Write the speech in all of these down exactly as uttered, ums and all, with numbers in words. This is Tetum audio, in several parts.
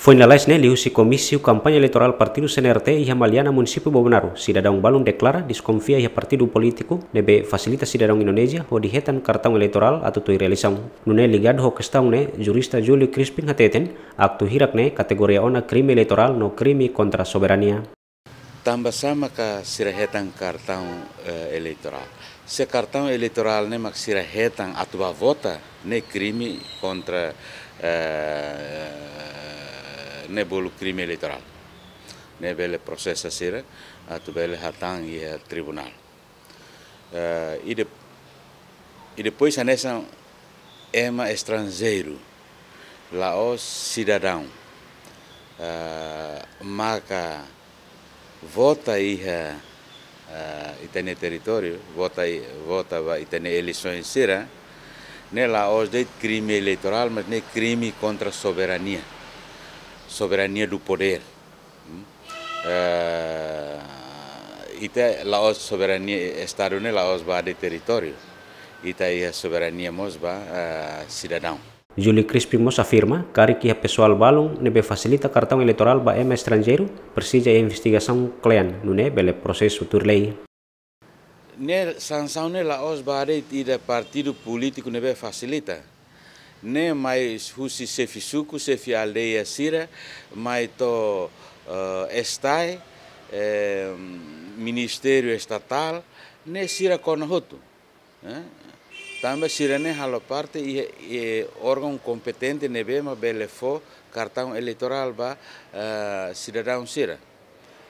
Foin lalais ne'e liuhusi Komísiu Kampaña Eleitorál Partidu C N R T iha Maliana, Munisípiu Bobonaro, sidadaun balun deklara deskonfia iha partidu polítiku ne'ebé fasilita sidadaun Indonézia hodi hetan kartaun eleitorál atu tuir eleisaun. Nune'e ligadu ho kestaun ne'e, jurista Júlio Crispin hateten, aktu hirak ne'e kategoria ona krime eleitorál no krime kontra soberania. Tanba sá maka sira hetan kartaun, eh, eleitorál? Se kartaun eleitorál ne'e mak sira hetan atu bá vota, ne'e krime kontra, eh, ne'e bolu krime eleitorál. Ne'e bele prosesa sira atu bele hatán iha tribunál. Eh, i de-, i depois hanesan ema estranjeiru, la'ós sidadaun, eh, maka vota iha, eh, ita-nia territóriu, vota i-, vota ba ita-nia eleisaun sira, ne'e la'ós de'it krime eleitorál, mas ne'e krime kontra soberania, soberania do poder. Hmm? Eh, ita la'ós soberania, Estadu ne'e la'ós ba de'it territóriu. Ita iha soberania mós ba, eh, sidadaun. Júlio Crispin mós afirma, karik iha pesoál balun ne'ebé fasilita kartaun eleitorál ba ema estranjeiru, presiza iha investigasaun kle'an, nune'e bele prosesu tuir lei. Ne'e sansaun ne'e la'ós ba de'it ida partidu polítiku ne'ebé fasilita. Ne'e mai husi xefe suku, xefe aldeia sira, mai to'o, eh, STAE, eh, Ministériu Estatál, ne'e sira kona hotu. Eh? Tanba sira ne'e halo parte iha, iha órgaun kompetente ne'ebé mak bele fó kartaun eleitorál ba, eh, sidadaun sira.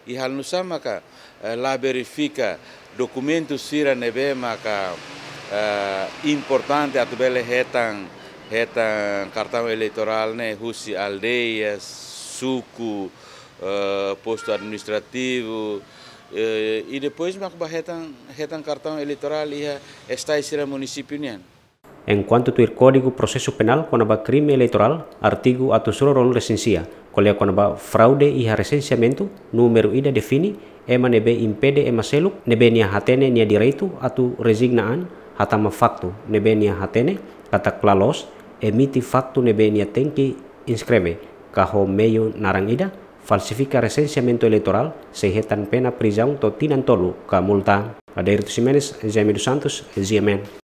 I halo nu'usá maka, eh, la verifika dokumentu sira ne'ebé maka, eh, importante atu bele hetan, hetan kartaun eleitorál ne'e husi aldeia, suku, eh, postu administrativu, eh, i depois mak bá hetan, hetan kartaun eleitorál iha STAE sira munisípiu nian. Enkuantu tuir Kódigu Prosesu Penál kona-ba krime eleitorál, artigu atus rua ruanulu-resin-sia, ko'alia kona-ba fraude iha resenseamentu, númeru ida define ema ne'ebé impede ema seluk ne'ebé nia hatene nia direitu atu rezigna an, hatama faktu ne'ebé nia hatene katak la loos, emite faktu ne'ebé nia tenke inskreve, ka ho meiu naran ida, falsifika resenseamentu eleitorál, sei hetan pena prizaun to'o tinan tolu ka multa. Adérito Ximenes, Jaime dos Santos, G M N.